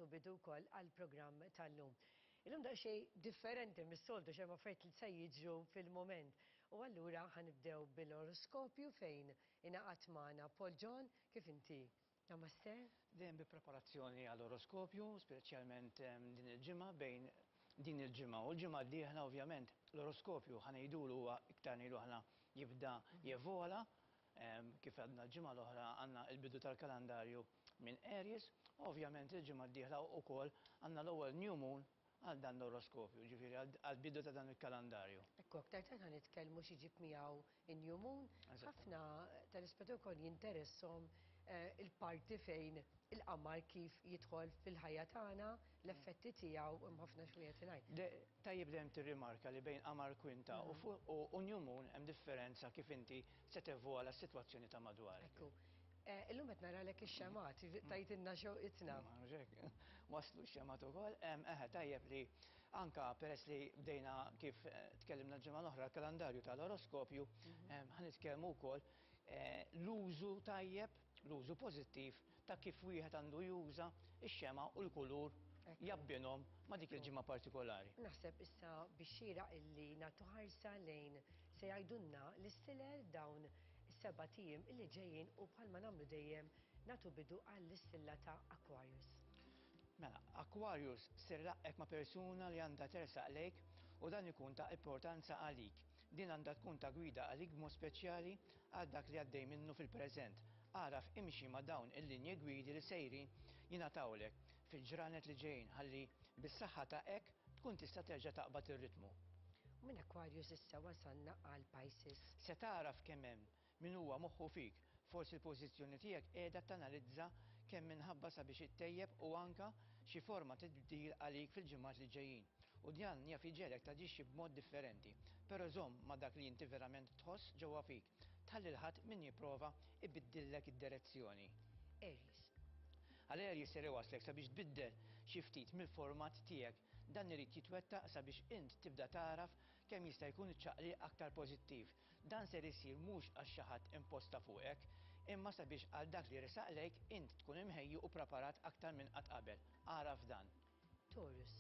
nagħtu bidu wkoll għall-programm tal-lum. Illum daqsxejn differenti mis-soltu x'hemm affarijiet li se jiġru fil-mument. U allura ħa nibdew bil-oroskopju fejn ingħaqad magħna Paul John, kif inti? Namaste. Dejjem bi preparazzjoni għall-oroskopju, speċjalment din il-ġimgħa bejn din il-ġimgħa u l-ġimgħa d-dieħla ovvjament l-oroskopju ħa ngħidulu huwa iktar ngħidu aħna jibda jevola kif għadna l-ġimgħa l-oħra għandna l-bidu tal-kalendarju minn Aries, u ovvjament il-ġimgħa d-dieħla wkoll għandna l-ewwel new moon għal dan l-oroskopju, ġifieri għall-bidu ta' dan il-kalendarju. Ekku, aktar tard ħa nitkellmu x'iġib miegħu in-new moon. Ħafna tal-ispettaturi wkoll jinteresshom il-parti fejn il-qamar kif jidħol fil-ħajja tagħna, l-effetti tiegħu, hemm ħafna x'wieħed ingħid. Tajjeb dejjem tirrimarka li bejn qamar kwinta u new moon hemm differenza kif inti se tevola s-sitwazzjoni ta' madwarek. Ekku. Illum qed naralek ix-xemgħat, tajtilna xewqitna. Mhux hekk, waslu x-xemgħat ukoll. Eħe, tajjeb li anka peress li bdejna kif tkellimna l-ġimgħa l-oħra l-kalendarju tal-oroskopju, ħa nitkellmu wkoll l-użu tajjeb, l-użu pożittiv ta' kif wieħed għandu juża x-xemgħa u l-kulur jabbinhom ma' dik il-ġimgħa partikolari. Naħseb issa bix-xieraq illi nagħtu ħarsa lejn se jgħidulna l-istilel dawn is-sebat ijiem illi ġejjin u bħalma nagħmlu dejjem nagħtu bidu għall-istilla ta' Aquarius. Mela, Aquarius ser ilaqqgħek ma' persuna li għandha tersaq lejk u dan ikun ta' importanza għalik. Din għandha tkun ta' gwida għalik b'mod speċjali għal dak li għaddej minnu fil-preżent. Agħraf imxi ma' dawn il-linji gwidi li sejrin jingħatawlek fil-ġranet li ġejjin ħalli bis-saħħa ta' hekk tkun tista' terġa' taqbad ir-ritmu. U minn Aquarius issa wasalna għal Pisces. Se tagħraf kemm hemm min huwa moħħu fik. Forsi l-pożizzjoni tiegħek qiegħda tanalizza kemm minħabba sabiex ittejjeb u anka xi forma tibdil għalik fil-ġimgħat li ġejjin. U dan jaf iġegħlek taġixxi b'mod differenti. Però żomm ma' dak li inti verament tħoss ġewwa fik. Tħalli 'l ħadd min jipprova ibiddillek id-direzzjoni. Aries. Għal Aries ser iwasslek sabiex tbiddel xi ftit mill-format tiegħek. Dan irid jitwettaq sabiex int tibda tagħraf kemm jista' jkun iċ-ċaqliq aktar pożittiv. Dan ser isir mhux għax xi ħadd imposta fuqek, imma sabiex għal dak li resaq lejk int tkun imħejji u preparat aktar minn qatt qabel. Agħraf dan. Taurus.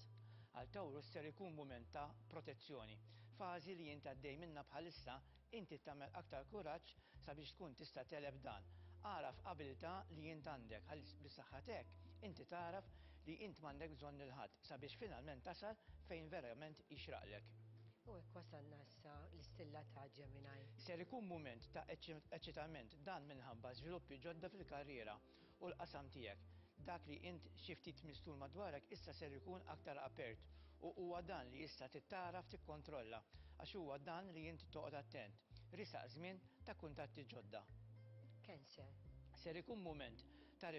Għal Taurus ser ikun mument ta' protezzjoni. Fażi li int għaddej minnha bħalissa, inti tagħmel aktar kuraġġ sabiex tkun tista' tegħleb dan. Agħraf abilità li int għandek ħalli bis-saħħa t'hekk inti tagħraf li int m'għandek bżonn lil ħadd sabiex finalment tasal fejn verament jixraqlek. U hekk wasalna issa l-istilla ta' Gemini. Ser ikun mument ta' eċċitament dan minħabba żviluppi ġodda fil-karriera u l-qasam tiegħek. Dak li int xi ftit mistur madwarek issa ser ikun aktar apert u huwa dan li issa trid tagħraf tikkontrolla għax huwa dan li int toqgħod attent. Riesaq żmien ta' kuntatti ġodda. Cancer. Ser ikun mument ta'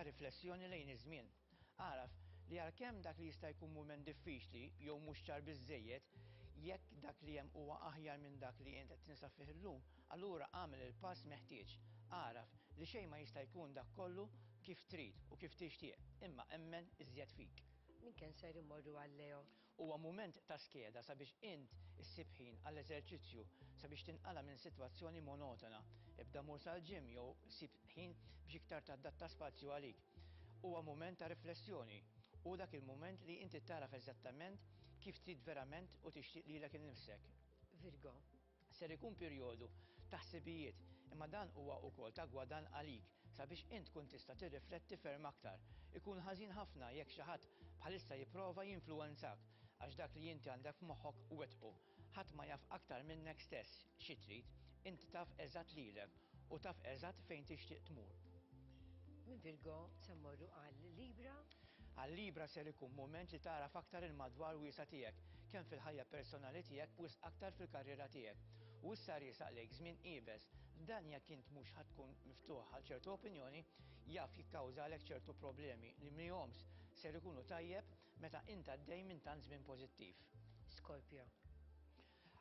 riflessjoni lejn iż-żmien. Agħraf li għalkemm dak li jista' jkun mument diffiċli jew mhux ċar biżżejjed, jekk dak li hemm huwa aħjar minn dak li int qed tinsab fih illum, allura agħmel il-pass meħtieġ. Agħraf li xejn ma jista' jkun dak kollu kif trid u kif tixtieq, imma emmen iżjed fik. Minn Cancer immorru għal Leo. Huwa mument ta' skeda sabiex int issib ħin għall-eżerċizzju sabiex tinqala' minn sitwazzjoni monotona. Ibda mur sal-gym jew sib ħin biex iktar tadatta spazju għalik. Huwa mument ta' riflessjoni. Hu dak il-mument li inti tagħraf eżattament kif trid verament u tixtieq lilek innifsek. Virgo. Ser ikun perjodu ta' ħsibijiet, imma dan huwa wkoll ta' gwadann għalik sabiex int tkun tista' tirrifletti ferm aktar. Ikun ħażin ħafna jekk xi ħadd bħalissa jipprova jinfluwenzak għax dak li inti għandek f'moħħok wettqu. Ħadd ma jaf aktar minnek stess xi trid, int taf eżatt lilek u taf eżatt fejn tixtieq tmur. Minn Virgo se mmorru għal Libra. Għal Libra ser ikun mument li tagħraf aktar il-madwar wiesa' tiegħek, kemm fil-ħajja personali tiegħek wisq aktar fil-karriera tiegħek. U issa riesaq lejk żmien iebes. Dan jekk int mhux ħa tkun miftuħ għal ċertu opinjoni, jaf jikkawżalek ċertu problemi li mihomx ser ikunu tajjeb meta int għaddej minn tant żmien pożittiv. Scorpio.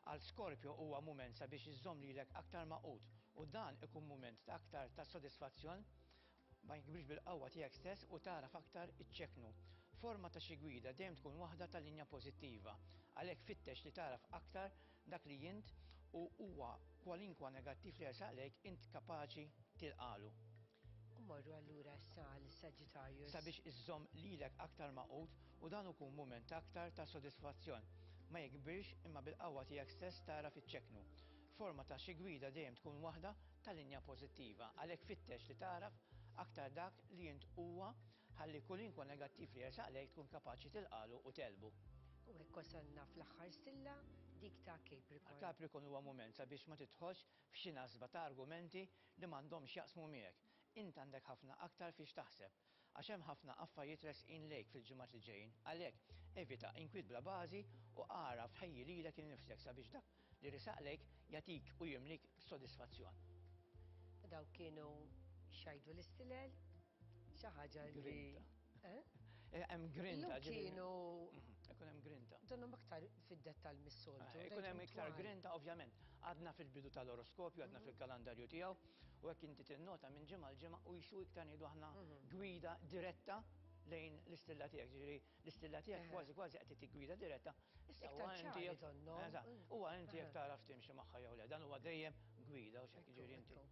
Għal Scorpio huwa mument sabiex iżżomm lilek aktar magħqud u dan ikun mument ta' aktar ta' sodisfazzjon ma jikbirx bil-qawwa tiegħek stess u tagħraf aktar iċċekknu. Forma ta' xi gwida dejjem tkun waħda ta' linja pożittiva. Għalhekk fittex li tagħraf aktar dak li int u huwa kwalinkwa negattiv li jersaq lejk int kapaċi tilqalu. U Immorru allura issa għal Sagittarius. Sabiex iżżomm lilek aktar magħqud u dan ikun mument aktar ta' sodisfazzjon. Ma jikbirx imma bil-qawwa tiegħek stess tagħraf iċċekknu. Forma ta' xi gwida dejjem tkun waħda ta' linja pożittiva, għalhekk fittex li tagħraf aktar dak li int huwa ħalli kulinkwa negattiv li jersaq lejk tkun kapaċi tilqagħlu u tegħlbu. U hekk wasalna fl-aħħar stilla, dik ta' Capricorn. Capricorn huwa mument sabiex ma tidħolx f'xi nasba ta' argumenti li m'għandhomx x'jaqsmu miegħek. Int għandek ħafna aktar fiex taħseb, għax hemm ħafna affarijiet resqin lejk fil-ġimgħat li ġejjin. Għalhekk, evita inkwiet bla bażi u agħraf ħejji lilek innifsek sabiex dak li resaq lejk jagħtik u jimlik b'sodisfazzjon. Dawk kienu x'jgħidu l-istilel, xi ħaġa li. Grinta. Eh? eh hemm grinta. Kienu. Mhm, ikun hemm grinta. Donhom aktar fid-dettall mis-soltu. Eh, ikun hemm iktar grinta, ovvjament. Għadna fil-bidu tal-oroskopju, għadna mhm. fil-kalendarju tiegħu, u hekk inti tinnota minn ġimgħa l-ġimgħa u jisu iktar ngħidu aħna mhm. gwida diretta lejn l-istilla tiegħek. Ġifieri l-istilla tiegħek kważi kważi qed tittik gwida diretta. Issa huwa inti huwa inti jekk tagħraf timxi magħha jew le. Dan huwa dejjem gwida u x'hekk jiġifieri inti.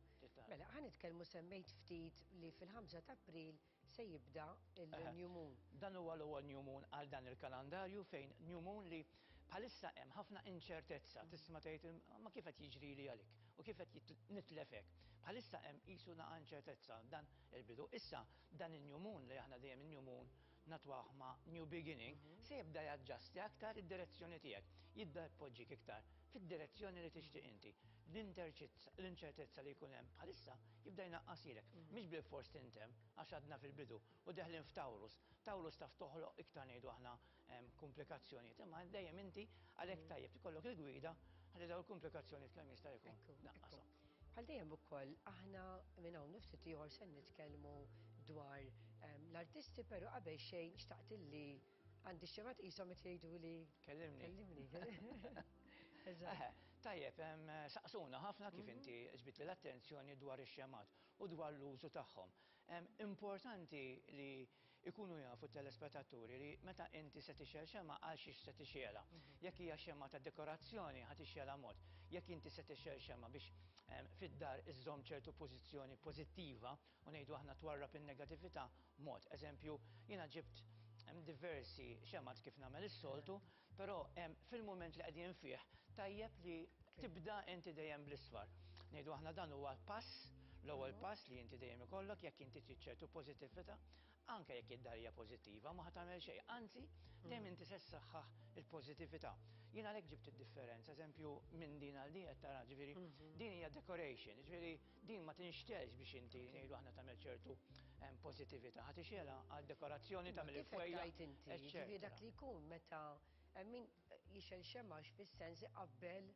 Mela, ħa nitkellmu semmejt ftit li fil-5 ta' April se jibda il-New Moon. Dan huwa l-ewwel New Moon għal dan il-kalendarju fejn New Moon li bħalissa hemm ħafna inċertezza, tisma' tgħid ma kif qed jiġrili għalik u kif qed nitlef hekk. Bħalissa hemm qisu naqa' inċertezza dan il-bidu. Issa dan il-New Moon li aħna dejjem il-New Moon natwah ma' New Beginning se jibda jaġġasti aktar id-direzzjoni tiegħek, jibda jpoġġik iktar fid-direzzjoni li tixtieq inti. L-inċertezza li jkun hemm bħalissa jibda jnaqqasilek. Mhix bilfors tintemm għax għadna fil-bidu u deħlin f'Taurus. Taurus taf toħloq iktar ngħidu aħna komplikazzjonijiet, imma dejjem inti għalhekk tajjeb ikollok il-gwida ħalli dawn il-komplikazzjonijiet kemm jista' jkun tnaqqashom. Bħal dejjem ukoll aħna minn hawn ftit ieħor se nitkellmu dwar l-artisti, però qabel xejn xtaqt illi għandi xemat qishom qed jgħiduli Kellimni. Kellimni. Eżatt. Tajjeb, saqsuna ħafna kif inti ġbidtli l-attenzjoni dwar ix-xemgħat u dwar l-użu tagħhom. Importanti li jkunu jafu t-telespettaturi li meta inti se tixgħel xemgħa għal xiex se tixgħelha. Jekk hija xemgħa ta' dekorazzjoni ħa tixgħelha mod. Jekk inti se tixgħel xemgħa biex fid-dar iżżomm ċertu pożizzjoni pożittiva u ngħidu aħna twarrab in-negatività mod. Eżempju, jiena ġibt diversi xemgħat kif nagħmel is-soltu, però fil-mument li qegħdin fih tajjeb li tibda inti dejjem bl-isfar. Ngħidu aħna dan huwa pass, l-ewwel pass li inti dejjem ikollok jekk inti trid ċertu pożittività, anke jekk id-dar hija pożittiva ma ħa tagħmel xejn, anzi dejjem inti se ssaħħaħ il-pożittività. Jien għalhekk ġibt id-differenza, eżempju minn din għal din qed tara, ġifieri din hija decoration, ġifieri din ma tinxtelx biex inti ngħidu aħna tagħmel ċertu pożittività, ħa tixgħelha għal dekorazzjoni tagħmel Kif qed il-fwejja. tgħid inti, ġifieri dak li jkun meta min jixgħel xemgħax fis-sens iqabbel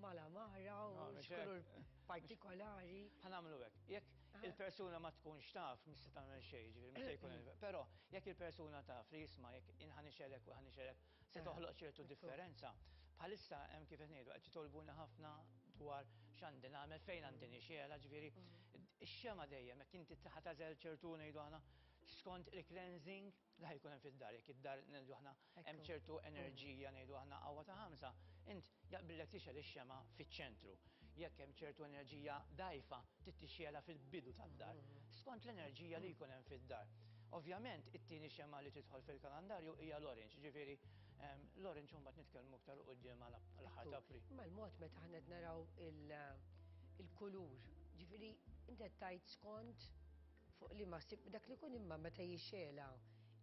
mal-għamara u x'kulur partikolari. Ħa nagħmlu hekk. Jekk il-persuna ma tkunx taf, mhix se tagħmel xejn, ġifieri mhux se jkun. Però jekk il-persuna taf li jisma' jekk ħa nixgħelek u ħa nixgħelek se toħloq ċertu differenza. Bħalissa hemm kif qed ngħidu qed jitolbuni ħafna dwar x'għandi nagħmel, fejn għandi nixgħelha, ġifieri ix-xemgħa dejjem jekk inti ħa tagħżel ċertu ngħidu aħna skont il-cleansing li ħa jkun hemm fid-dar, jekk id-dar ngħidu aħna hemm ċertu enerġija ngħidu aħna qawwa ta' ħamsa, int jaqbillek tixgħel ix-xemgħa fiċ-ċentru. Jekk hemm ċertu enerġija dgħajfa, trid tixgħelha fil-bidu tad-dar, skont l-enerġija li jkun hemm fid-dar. Ovvjament, it-tieni xemgħa li tidħol fil-kalendarju hija l-orange, ġifieri l-orange mbagħad nitkellmu iktar quddiem għal aħħar ta' April. Ma l-mod meta aħna qed naraw il-kulur, ġifieri inti qed tgħid skont fuq li ma sib dak li jkun imma meta jixgħelha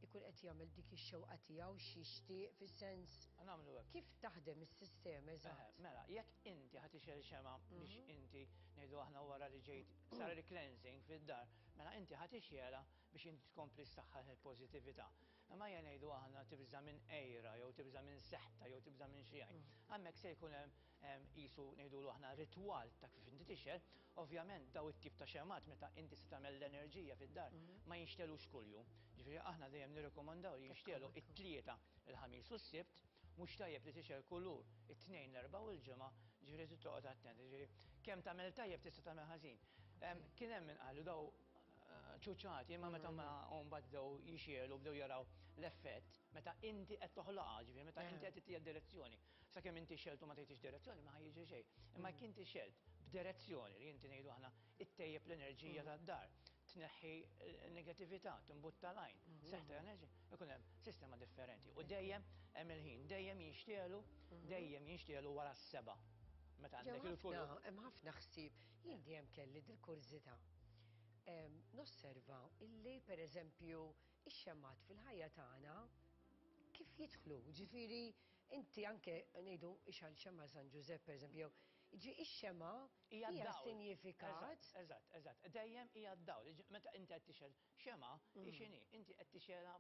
ikun qed jagħmel dik ix-xewqa tiegħu x'jixtieq fis-sens. Nagħmlu hekk. Kif taħdem is-sistema eżatt? Mela, jekk inti ħa tixgħel xemgħa biex inti ngħidu aħna wara li ġejt sar il-cleansing fid-dar, mela inti ħa tixgħelha biex inti tkompli ssaħħaħ il-pożittività. Imma ejja ngħidu aħna tibża' minn għira jew tibża' minn seħta jew tibża' minn xi għajn. Hemmhekk se jkun hemm qisu ngħidulu aħna ritwal ta' kif inti tixgħel. Ovvjament daw it-tip ta' xemgħat meta inti se tagħmel l-enerġija fid-dar ma jinxtelux kuljum. Ġifieri aħna dejjem nirrikomandaw li jinxtelu it-Tlieta, il-Ħamis u s-Sibt, mhux tajjeb li tixgħel kulur it-Tnejn, l-Erbgħa u l-Ġimgħa, ġifieri trid toqgħod attent. Ġifieri kemm tagħmel tajjeb tista' tagħmel ħażin. Kien hemm min qalu daw ċuċati, imma meta ma mbagħad bdew jixgħelu bdew jaraw l-effett meta inti qed toħloqha, ġifieri meta inti qed tittiha direzzjoni. Sakemm inti xgħelt u ma tgħidix direzzjoni ma ħa jiġri xejn. Imma jekk inti xgħelt b'direzzjoni li inti ngħidu aħna ittejjeb l-enerġija tad-dar, Tneħħi negatività, timbutta l-għajn, seħħ ta' enerġija, ikun hemm sistema differenti. U dejjem hemm il-ħin, dejjem jinxtielu, dejjem jinxtielu wara s-seba. Meta għandek il-kulur. Hemm ħafna ħsieb. Jien dejjem kelli dil-kurżità. Nosserva illi pereżempju ix-xemgħat fil-ħajja tagħna kif jidħlu, ġifieri inti anke ngħidu ixgħal xemgħa San Ġużepp pereżempju, jew ġi ix-xemgħa hija sinjifikat. Eżatt, eżatt. Dejjem hija d-dawl. Meta inti qed tixgħel xemgħa, hi x'inhi? Inti qed tixgħelha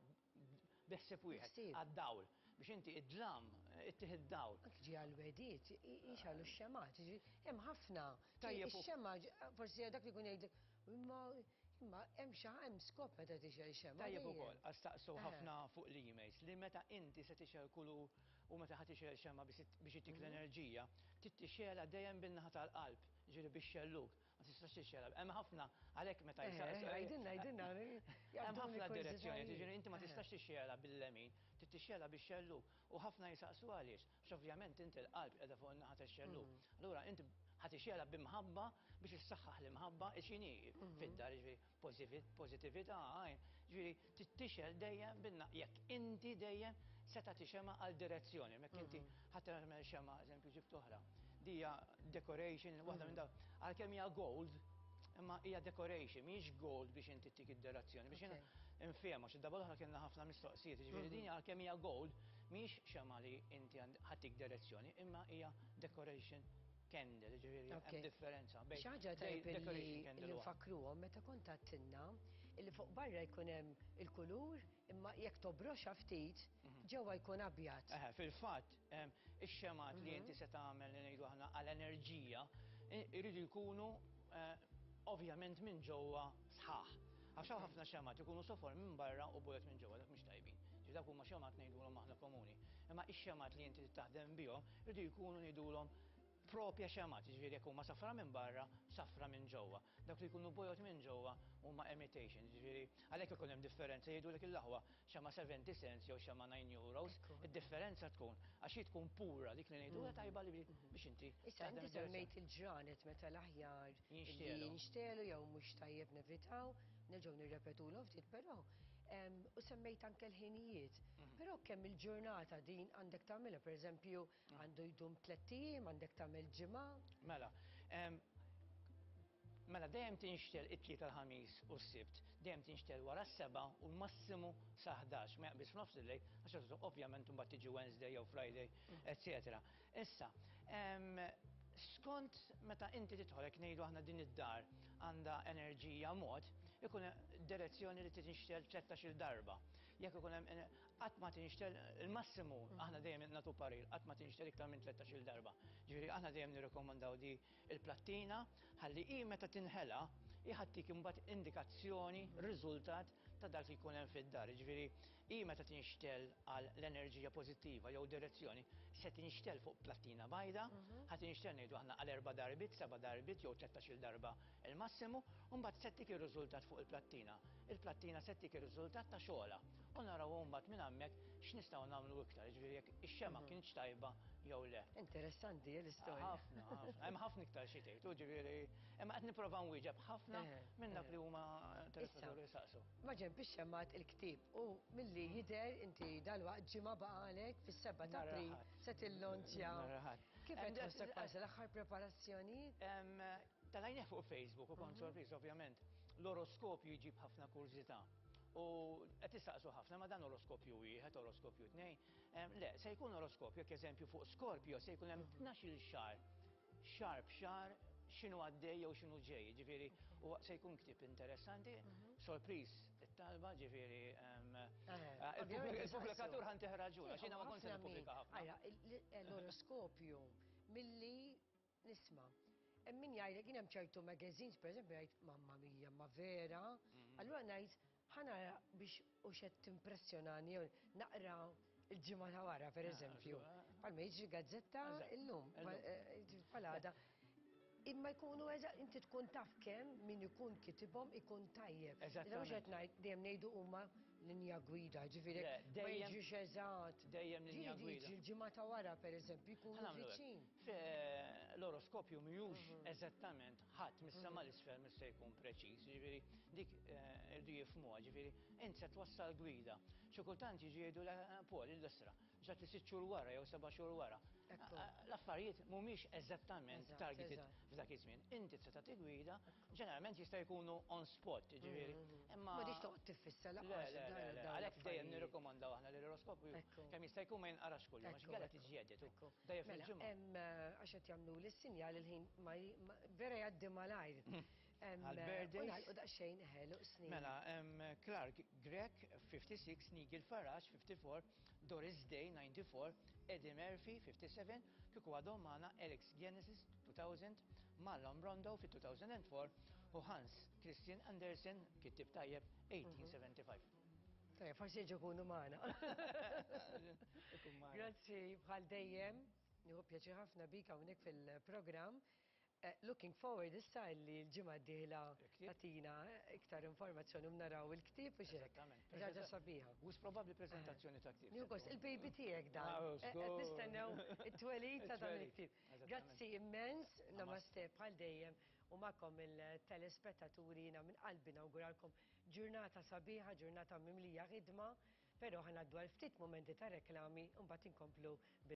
bi ħsieb wieħed, għad-dawl. Biex inti id-dlam ittih id-dawl. Anke ġi għall-wegħdiet, jixgħelu x-xemgħat. Hemm ħafna. Ix-xemgħa forsi dak li jkun jgħid imma Imma hemm xi hemm skop meta tixgħel xemgħa. Tajjeb ukoll, għax staqsew ħafna fuq l-emails li meta inti se tixgħel kulur u meta ħa tixgħel xemgħa biex ittik l-enerġija, trid tixgħelha dejjem bin-naħa tal-qalb, jiġifieri bix-xellug, ma tistax tixgħelha. Hemm ħafna għalhekk meta jsaqsu. Għidilna, għidilna. Hemm ħafna direzzjonijiet, jiġifieri inti ma tistax tixgħelha bil-lemin, trid tixgħelha bix-xellug. U ħafna jsaqsu għaliex, għax ovvjament inti l-qalb qiegħda fuq in-naħa tax-xellug. Allura inti ħa tixgħelha b'imħabba biex issaħħaħ l-imħabba x'inhi fid-dar, jiġifieri pożittività, jiġifieri trid tixgħel dejjem bin jekk inti dejjem se tagħti xemgħa għal direzzjoni, jekk inti ħa tagħmel xemgħa, eżempju ġibt oħra. Di hija decoration, waħda minn dawn, għalkemm hija gold, imma hija decoration, mhijiex gold biex inti ttik id-direzzjoni, biex jiena nfhem għax id-darba l-oħra kellna ħafna mistoqsijiet, jiġifieri din għalkemm hija gold, mhijiex xemgħa li inti ħa ttik direzzjoni, imma hija decoration candle, jiġifieri hemm differenza bejn Xi ħaġa tajjeb li nfakkruhom meta kont għedtilna illi fuq barra jkun hemm il-kulur imma jekk tobroxha ftit ġewwa jkun abjad. Eħe, fil-fatt, Ix-xemgħat li inti se tagħmel li ngħidu aħna għal enerġija jridu jkunu ovvjament minn ġewwa sħaħ. Għax hawn ħafna xemgħat ikunu sofor minn barra u bojod minn ġewwa, dak mhux tajbin. Ġifieri dawk huma xemgħat ngħidulhom aħna komuni. Imma ix-xemgħat li inti taħdem bihom jridu jkunu ngħidulhom propja xemgħat, jiġifieri jekk huma safra minn barra, safra minn ġewwa. Dawk li jkunu bojod minn ġewwa huma imitation, jiġifieri għalhekk ikun hemm differenza jgħidulek il-aħwa xemgħa 70 cents jew xemgħa 9 euros, id-differenza tkun għax hi tkun pura dik li ngħidulha tajba li biex inti. Issa inti semmejt il-ġranet meta l-aħjar jinxtegħlu jew mhux tajjeb nevitaw, nerġgħu nirrepetulhom ftit però u semmejt anke l-ħinijiet. Però kemm il-ġurnata din għandek tagħmilha, pereżempju, Għandu jdum tlett ijiem, għandek tagħmel ġimgħa. Mela, mela dejjem tinxtel it-Tlieta l-Ħamis u s-Sibt, dejjem tinxtel wara s-sebgħa u l-massimu sa 11, ma jaqbiż f'nofs il-lejl, għax ovvjament imbagħad tiġi Wednesday jew Friday, eċċetera. Issa, skont meta inti tidħol hekk ngħidu aħna din id-dar għandha enerġija mod, ikun direzzjoni li tinxtel 13-il darba. Jekk ikun hemm Qatt ma tinxtel, il-massimu, aħna dejjem nagħtu parir, qatt ma tinxtel iktar minn 13-il darba. Ġifieri aħna dejjem nirrikkomandaw di il-plattina ħalli hi meta tinħela hi ħa ttik imbagħad indikazzjoni, riżultat ta' dak li jkun hemm fid-dar. Ġifieri hi meta tinxtel għal l-enerġija pożittiva jew direzzjoni se tinxtel fuq plattina bajda, ħa tinxtel ngħidu aħna għal erba' darbiet, seba' darbiet jew 13-il darba il-massimu, u mbagħad se ttik ir-riżultat fuq il-plattina. Il-plattina se ttik ir-riżultat ta' xogħolha. U naraw imbagħad minn hemmhekk x'nistgħu nagħmlu iktar, jiġifieri jekk ix-xemgħa kinitx tajba jew le. Interessanti l-istorja. Ħafna, ħafna. Hemm ħafna iktar xi tgħid, jiġifieri imma qed nipprova nwieġeb ħafna minn dak li huma telespettaturi jsaqsu. Maġenb ix-xemgħat il-ktieb u milli jidher inti dalwaqt ġimgħa baqgħalek fis-7 ta' April se tillonċja. Kif qed tħossok bħalissa l-aħħar preparazzjonijiet? Talajnieh fuq Facebook u kont sorpriż ovvjament. L-oroskopju jġib ħafna kurżità. U qed tistaqsu ħafna ma dan oroskopju wieħed, oroskopju tnejn. Le, se jkun oroskopju, jekk eżempju fuq Skorpjo se jkun hemm 12-il xahar, xahar b'xahar x'inhu għaddej jew x'inhu ġej. Ġifieri, u se jkun ktieb interessanti, sorpriż it-talba, ġifieri il-pubblikatur ħa ntih raġun, għax jiena ma kontx se nippubblika ħafna. L-oroskopju milli Nisma'. Hemm min jgħidlek jien hemm ċertu magazines pereżempju jgħid mamma mia ma vera. Mm. Allura ngħid ħa nara biex u xed timpressjonani jew naqra il-ġimgħa ta' wara pereżempju. Ah, eh. Palma jiġri gazzetta illum, eh, palada. Imma jkunu inti tkun taf kemm min ikun kitibhom ikun tajjeb. Eżatt. Mhux qed ngħid dejjem ngħidu huma linja gwida, ġifieri ma jiġix eżatt. Dejjem linja gwida. Jiġi l-ġimgħa ta' wara pereżempju jkunu viċin. L-oroskopju mhijiex eżattament ħadd mis-sema 'l isfel mhux se jkun preċiż, ġifieri dik irdu jifhmuha, ġifieri int se twassal gwida. Xi kultant jiġi jgħidu Paul il-isra, ġrat li 6 xhur wara jew 7 xhur wara. L-affarijiet mhumiex eżattament targeted f'dak iż-żmien. Inti se tagħti gwida, ġeneralment jista' jkunu on spot, ġifieri. Imma ma tix toqgħod tiffissa lanqas. Le, le, le, għalhekk dejjem nirrikomandaw aħna li l-oroskopju kemm jista' jkun ma jinqarax kuljum, għax inkella tiġi edit. Dejjem fil-ġimgħa. Hemm għax qed jagħmluli s-sinjal il-ħin vera jgħaddi malajr. Għal-birthdays. U nagħlqu daqsxejn ħelu snin. Mela, Clark Gregg 56, Nigel Farage 54, Doris Day 94, Eddie Murphy 57, kieku għadhom magħna Alex Genesis 2000, Marlon Brando fi 2004 u Hans Christian Andersen, kittib tajjeb, 1875. Tajjeb, forsi jiġu jkunu magħna. Grazzi bħal dejjem, nieħu pjaċir ħafna bik hawnhekk fil-programm. Looking forward issa li l-ġimgħa d-dieħla tagħtina iktar informazzjoni u naraw il-ktieb u x'hekk. Eżattament. Ħaġa sabiħa. Wis probabbli preżentazzjoni ta' ktieb. Nieħu gost, il-baby tiegħek dan. Qed nistennew it-twelid ta' dan il-ktieb. Grazzi immens, namaste bħal dejjem u magħkom il-telespettaturi jiena minn qalbi nawguralkom ġurnata sabiħa, ġurnata mimlija ħidma, però ħa ngħaddu għal ftit mumenti ta' reklami u mbagħad inkomplu bil.